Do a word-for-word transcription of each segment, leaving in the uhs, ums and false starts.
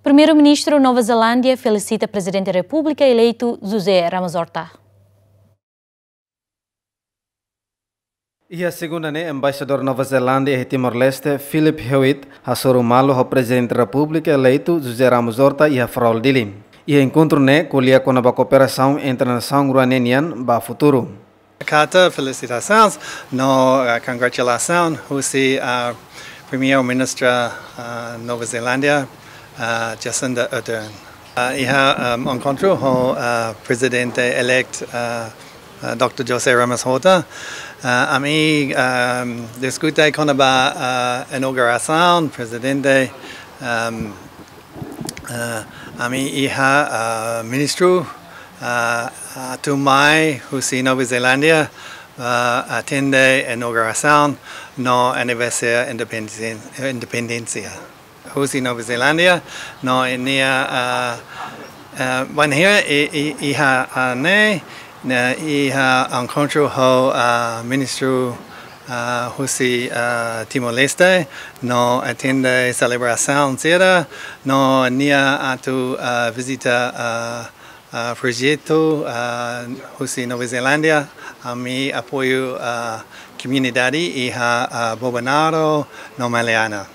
Primeiru-Ministru Nova Zelándia felisita Prezidente Repúblika eleitu José Ramos Horta. Iha segunda ne'e, Embaixadór Nova Zelándia iha Timor-Leste, Philip Hewitt, hasoru malu ho Prezidente Repúblika eleitu José Ramos Horta iha Farol, Dili. Iha enkontru ne'e ko'alia kona-ba kooperasaun entre nasaun rua ne'e nian ba futuru. Hakarak felisitasaun no, eh, kongratulasaun husi, eh, Primeiru-Ministru, eh, Nova Zelándia, eh, Jacinda Ardern. Eh, iha, em, enkontru ho, eh, Prezidente-eleitu, eh, eh, doutór José Ramos Horta, eh, ami, em, diskute kona-ba, eh, inaugurasaun, Prezidente, em, eh, ami iha, eh, ministru, eh, atu mai husi Nova Zelándia, eh, atende inaugurasaun no aniversáriu independen-, independénsia husi Nova Zelándia, no nia, eh, eh, bainhira i, i, iha, eh, ne'e, ne'e iha enkontru ho, eh, ministru, eh, husi, eh, Timor-Leste, no atende selebrasaun sira, no nia atu, eh, vizita, eh, eh, projetu, eh, husi Nova Zelándia, ami apoiu, eh, komunidade iha, eh, Bobonaro no Maliana.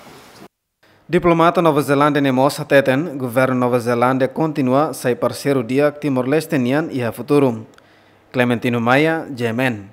Diplomata Nova Zelándia ne'e mós hateten, governu Nova Zelándia kontinua sai parseiru di'ak Timor-Leste nian iha futuru. Clementino Maia, G M N.